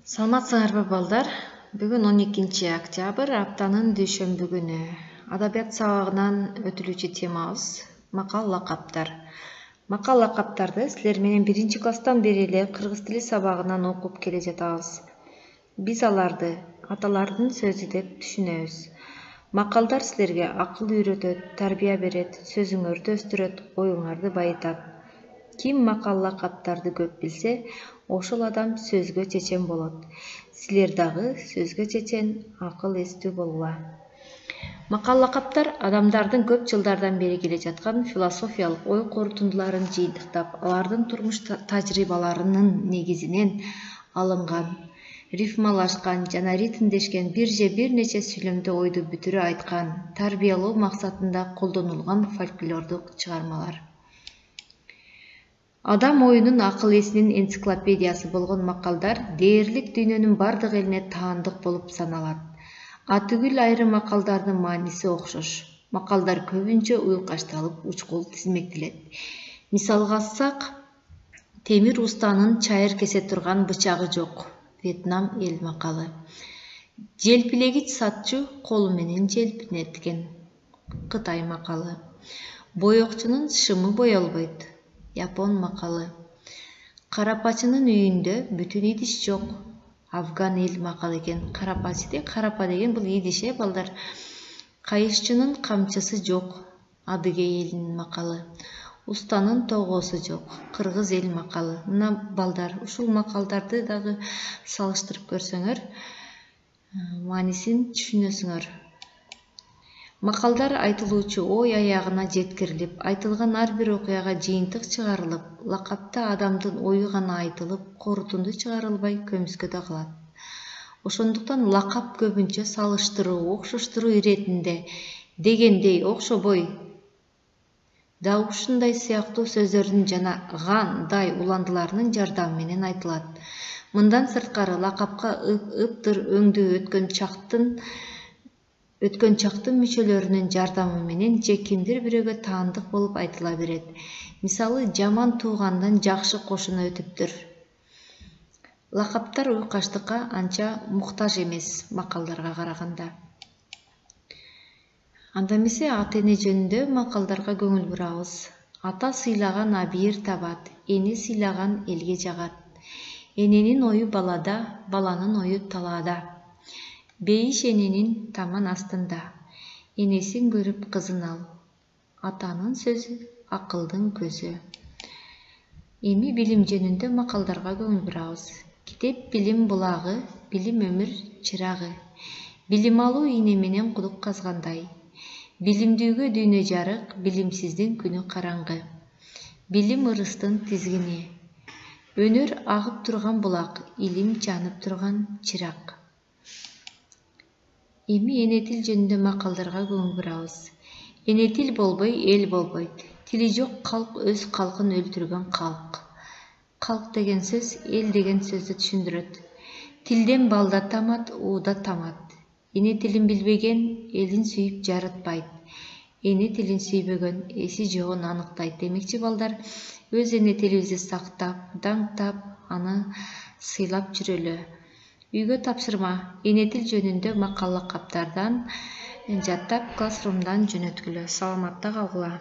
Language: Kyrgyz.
Саламатсыңарбы балдар? Бүгүн 12 октябрь, аптанын дүйшөмбү күнү. Адабият сабагынан өтүлүүчү темабыз макал лакаптар. Макал лакаптарды силер менен 1-класстан бери эле кыргыз тили сабагынан окуп келе жатабыз. Биз аларды аталардын сөзү деп түшүнөбүз. Макалдар силерге акыл үйрөтөт, тарбия берет, сөзүңөрдү өстүрөт, оюңарды байытат. Ким макал лакаптарды көп билсе, ошол адам сөзгө чечен болот. Силер дагы сөзгө чечен, акыл эстүү болгула. Макал лакаптар адамдардын көп жылдардан бери келе жаткан философиялык ой корутундуларын жыйынтыктап, алардын турмуш тажрыйбаларынын негизинен алынган, рифмалашкан жана ритмдешкен бир же бир нече сүйлөмдө ойду бүтүрө айткан, тарбиялоо максатында колдонулган фольклордук чыгармалар. Адам оюнун акыл эсинин энциклопедиясы болгон макалдар дээрлик дүйнөнүн бардык элине таандык болуп саналат. Атүгүл айрым макалдардын мааниси окшош. Макалдар көбүнчө уйкашталып, учкул тизмектелет. Мисалга алсак, темир устанын чайыр кесе турган бычагы жок. Вьетнам эл макалы. Желпилегич сатчу колу менен желпинет экен. Кытай макалы. Боекчунун шымы боелбойт. Япон макалы. Карапачынын үйүндө бүтүн идиш жок. Афган эл макалы экен. Карапа деген бул идиш, балдар. Кайышчынын камчысы жок. Адыгей элинин макалы. Устанын тогоосу жок. Кыргыз эл макалы. Мына балдар, ушул макалдарды дагы салыштырып көрсөңөр, маанисин түшүнөсүңөр. Макалдар айтылуучу ой аягына жеткирилип, айтылган ар бир окуяга жыйынтык чыгарылып, лакапта адамдын ою гана айтылып, корутунду чыгарылбай көмүскөдө калат. Ошондуктан лакап көбүнчө салыштыруу, окшоштуруу иретинде, дегендей, окшобой да ушундай сыяктуу сөздөрдүн жана гандай уландыларынын жардамы менен айтылат. Мындан сырткары лакапка ыптыр өңдүү өткөн чактын мүчөлөрүнүн жардамы менен же кимдир бирөөгө таандык болуп айтыла берет. Мисалы, жаман туугандан жакшы кошуна өтүптүр. Лакаптар уйкаштыкка анча муктаж эмес макалдарга караганда. Анда эмесе ата эне жөнүндө макалдарга көңүл бурабыз. Ата сыйлаган абийир табат, эне сыйлаган элге жагат. Эненин ою балада, баланын ою талаада. Бейиш эненин таман астында. Энесин көрүп кызын ал. Атанын сөзү акылдын көзү. Эми билим жөнүндө макалдарга көңүл бурабыз. Китеп билим булагы, билим өмүр чырагы. Билим алуу ийне менен кудук казгандай. Билимдүүгө дүйнө жарык, билимсиздин күнү караңгы. Билим ырыстын тизгини. Өнөр агып турган булак, илим жанып турган чырак. Эми эне тил жөнүндө макалдарга көңүл бурабыз. Эне тил болбой, эл болбойт. Тили жок калк өз калкын өлтүргөн калк. Калк деген сөз эл деген сөздү түшүндүрөт. Тилден балда тамат, ууда тамат. Эне тилин билбеген элин сүйүп жарытпайт. Эне тилин сүйбөгөн эси жогун аныктайт. Демекчи балдар, өз эне тилибизди сактап, даңктап, аны сыйлап жүрөлү. Үйгө тапшырма, эне тил жөнүндө макал лакаптардан жаттап, классрумдан жөнөткүлө. Саламатта калгыла.